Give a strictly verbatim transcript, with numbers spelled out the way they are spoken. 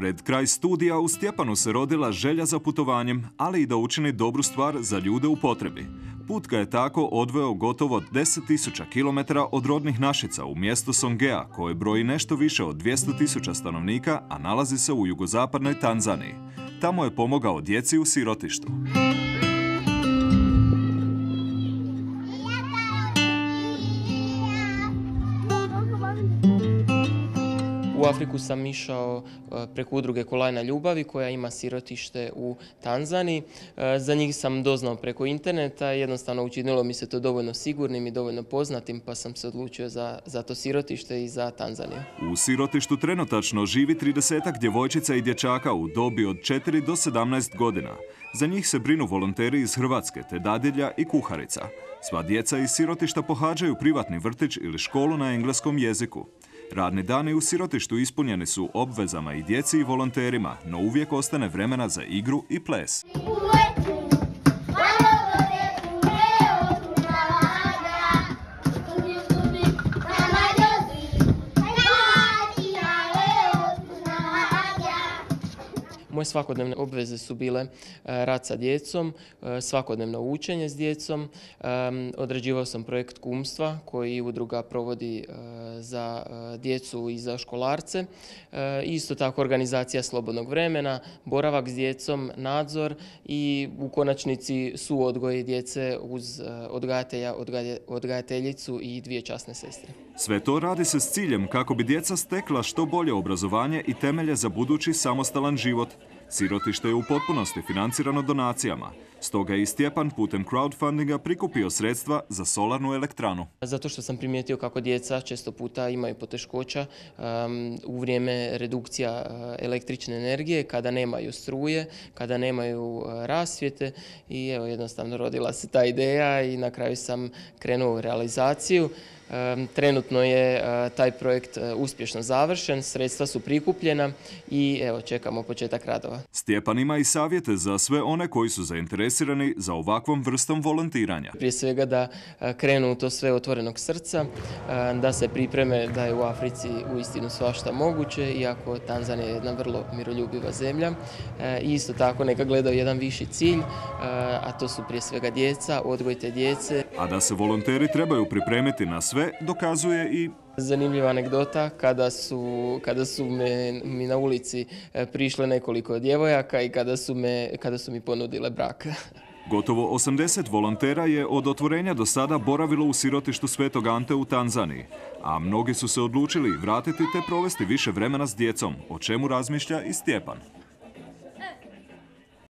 Pred kraj studija u Stjepanu se rodila želja za putovanjem, ali i da učini dobru stvar za ljude u potrebi. Put ga je tako odveo gotovo deset tisuća kilometara od rodnih Našica u mjesto Songea, koje broji nešto više od dvjesto tisuća stanovnika, a nalazi se u jugozapadnoj Tanzaniji. Tamo je pomogao djeci u sirotištu. U Afriku sam išao preko udruge Kolajna ljubavi koja ima sirotište u Tanzaniji. Za njih sam doznao preko interneta, jednostavno učinilo mi se to dovoljno sigurnim i dovoljno poznatim, pa sam se odlučio za, za to sirotište i za Tanzaniju. U sirotištu trenutačno živi tridesetak djevojčica i dječaka u dobi od četiri do sedamnaest godina. Za njih se brinu volonteri iz Hrvatske, te dadilja i kuharica. Sva djeca iz sirotišta pohađaju privatni vrtić ili školu na engleskom jeziku. Radni dani u sirotištu ispunjeni su obvezama i djeci i volonterima, no uvijek ostane vremena za igru i ples. Moje svakodnevne obveze su bile rad sa djecom, svakodnevno učenje s djecom. Odrađivao sam projekt kumstva koji udruga provodi za djecu i za školarce. Isto tako organizacija slobodnog vremena, boravak s djecom, nadzor i u konačnici suodgoj djece uz odgajatelja, odgajateljicu i dvije časne sestre. Sve to radi se s ciljem kako bi djeca stekla što bolje obrazovanje i temelje za budući samostalan život. Sirotište je u potpunosti financirano donacijama, stoga je i Stjepan putem crowdfundinga prikupio sredstva za solarnu elektranu. Zato što sam primijetio kako djeca često puta imaju poteškoća um, u vrijeme redukcija električne energije, kada nemaju struje, kada nemaju uh, rasvjete i evo jednostavno rodila se ta ideja i na kraju sam krenuo u realizaciju. Trenutno je taj projekt uspješno završen, sredstva su prikupljena i evo čekamo početak radova. Stjepan ima i savjete za sve one koji su zainteresirani za ovakvom vrstom volontiranja. Prije svega da krenu u to sve otvorenog srca, da se pripreme da je u Africi uistinu svašta moguće, iako Tanzanija je jedna vrlo miroljubiva zemlja. I isto tako neka gledaju jedan viši cilj, a to su prije svega djeca, odgoj te djece. A da se volonteri trebaju pripremiti na sve, dokazuje i zanimljiva anegdota kada su, kada su me, mi na ulici prišle nekoliko djevojaka i kada su, me, kada su mi ponudile brak. Gotovo osamdeset volontera je od otvorenja do sada boravilo u sirotištu Svetog Ante u Tanzaniji, a mnogi su se odlučili vratiti te provesti više vremena s djecom, o čemu razmišlja i Stjepan.